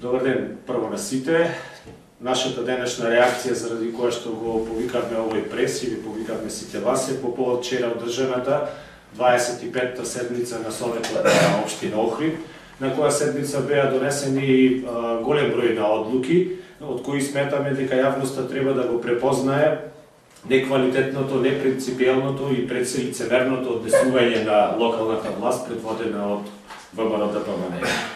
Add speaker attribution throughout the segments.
Speaker 1: Добар ден прво на сите. Нашата денешна реакција заради која што го повикавме овој прес и ви повикавме сите вас е по повод вчера одржаната 25-та седница на Советот на општина Охрид, на која седница беа донесени голем број на одлуки, од кои сметаме дека јавноста треба да го препознае неквалитетното, непринципиелното и предсе лицемерното однесување на локалната власт предводена од ВМРО-ДПМНЕ.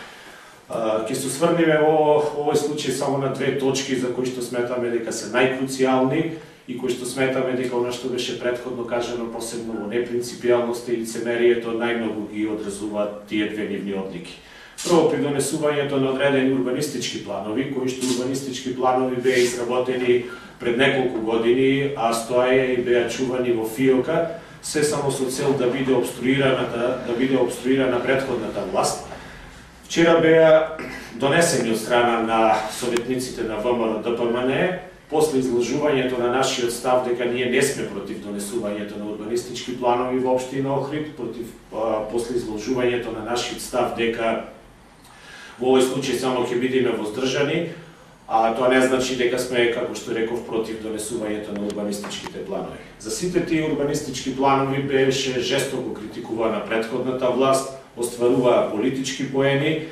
Speaker 1: Ќе се осврнеме во овој случај само на две точки за кои што сметаме дека се најкруцијални и кои што сметаме дека она што беше претходно кажано, посебно во непринципијалноста и лицемерието, најмногу ги одразуваат тие две нивни одлики. Прво, при донесувањето на одредени урбанистички планови, кои што урбанистички планови беа изработени пред неколку години, а стоеја и беа чувани во фиока, се само со цел да биде обструирана претходната власт. Вчера беа донесени од страна на советниците на ВМРО-ДПМНЕ, после изложувањето на нашиот став дека ние не сме против донесувањето на урбанистички планови во општина Охрид, после изложувањето на нашиот став дека во овој случај само ќе бидеме воздржани, а тоа не значи дека сме, како што реков, против донесувањето на урбанистичките планови. За сите тие урбанистички планови беше жестоко критикувана претходната власт, остваруваа политички поени,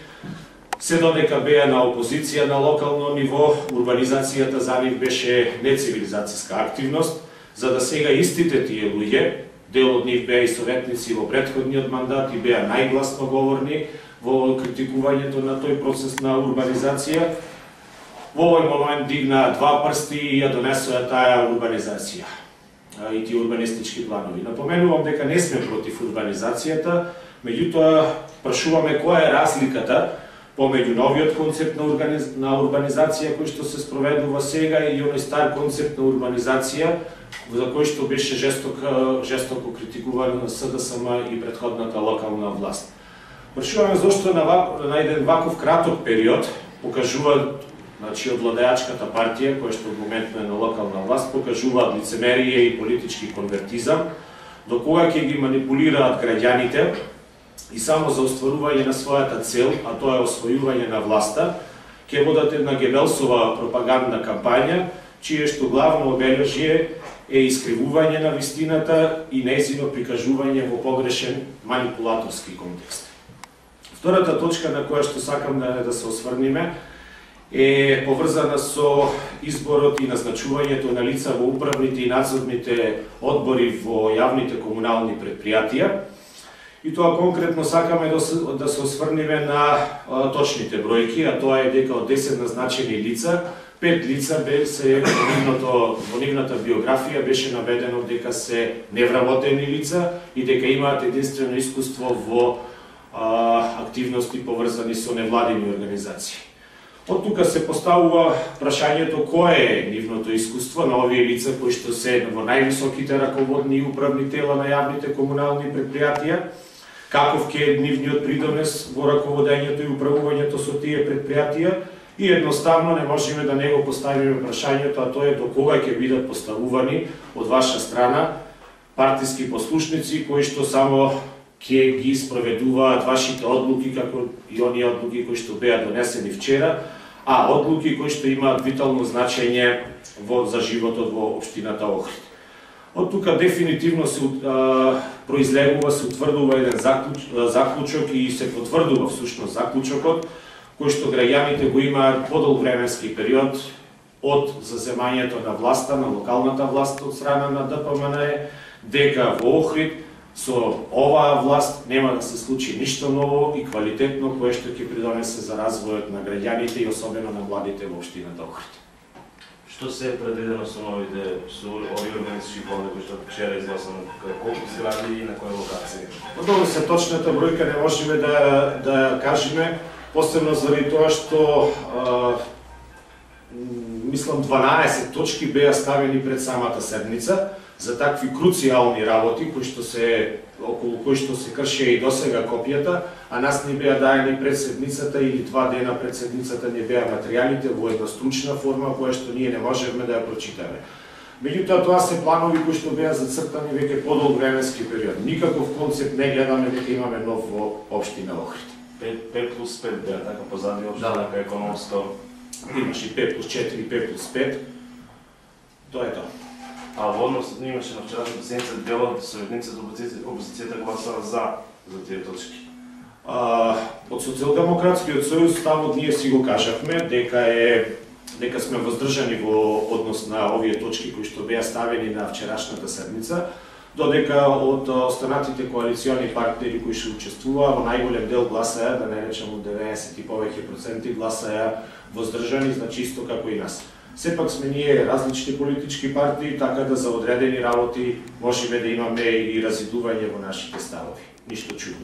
Speaker 1: се додека беа на опозиција на локално ниво, урбанизацијата за нив беше нецивилизацијска активност, за да сега истите тие луѓе, дел од нив беа и советници во претходниот мандат и беа најгласно говорни во критикувањето на тој процес на урбанизација, во овој момент дигнаа два прсти и ја донесоа таа урбанизација и тие урбанистички планови. Напоменувам дека не сме против урбанизацијата, меѓутоа прашуваме која е разликата помеѓу новиот концепт на урбанизација кој што се спроведува сега и оној стар концепт на урбанизација за кој што беше жестоко критикуван на СДСМ и претходната локална власт. Прашуваме зошто на еден ваков краток период покажуваат, значи од владеачката партија која што во моментно е на локална власт, покажуваат лицемерие и политички конвертизам, до кога ќе ги манипулираат граѓаните и само за остварување на својата цел, а тоа е освојување на власта, ќе водат една Гебелсова пропагандна кампања, чие што главно обележје е искривување на вистината и нејзино прикажување во погрешен манипулаторски контекст. Втората точка на која што сакам да се осврниме е поврзана со изборот и назначувањето на лица во управните и надзорните одбори во јавните комунални предпријатија. И тоа конкретно сакаме да се осврниме на точните бројки, а тоа е дека од 10 назначени лица, 5 лица во нивната биографија беше наведено дека се невработени лица и дека имаат единствено искуство во активности поврзани со невладини организации. Од тука се поставува прашањето кое е нивното искуство на овие лица кои што се во највисоките раководни и управни тела на јавните комунални предпријатија, каков ќе е нивниот придонес во раководењето и управувањето со тие предпријатија и едноставно не можеме да не го поставиме прашањето, а тоа е до кога ќе бидат поставувани од ваша страна партиски послушници кои што само ќе ги спроведуваат вашите одлуки, како и оние одлуки кои што беа донесени вчера, а одлуки кои што имаат витално значење за животот во општината Охрид. Од тука дефинитивно се произлегува, се утврдува еден заклучок и се потврдува всушност заклучокот, кој што граѓаните го имаат подолг временски период од заземањето на власта, на локалната власт од страна на ДПМНЕ, дека во Охрид со оваа власт нема да се случи ништо ново и квалитетно кое што ќе придонесе за развојот на граѓаните и особено на младите во општината Охрид.
Speaker 2: Што се е предвидено со овие урбанистички планови кои што вчера изгласано, колку згради и на која локација?
Speaker 1: Добро, се точната бројка не можеме да кажеме, посебно заради тоа што мислам 12 точки беа ставени пред самата седница за такви круцијални работи околу кои што се кршеа и досега копијата, а нас ни беа даени пред седницата или 2 дена пред седницата ни беа материјалите во една стручна форма која што ние не можевме да ја прочитаме. Меѓутоа тоа се планови кои што беа зацртани веќе подолг временски период. Никаков концепт не гледаме дека имаме нов во општина Охрид.
Speaker 2: 5 плюс 5 беа, така позади обшто така економско.
Speaker 1: Имаш и 5 плюс 4 и 5 плюс 5. Тоа е тоа.
Speaker 2: А во однос имаше на вчерашната седница дел од сојузниците опозицијата гласаа за тие точки.
Speaker 1: Од Социјалдемократскиот сојуз ставот ние си го кажавме дека сме воздржани во однос на овие точки кои што беа ставени на вчерашната седница, додека од останатите коалициони партнери кои што учествуваа во најголем дел гласаја, да не речем од 90 и повеќе проценти гласаја воздржани, значи исто како и нас. Сепак сме ние различни политички партии, така да за одредени работи можеме да имаме и разидување во нашите ставови. Ништо чудно.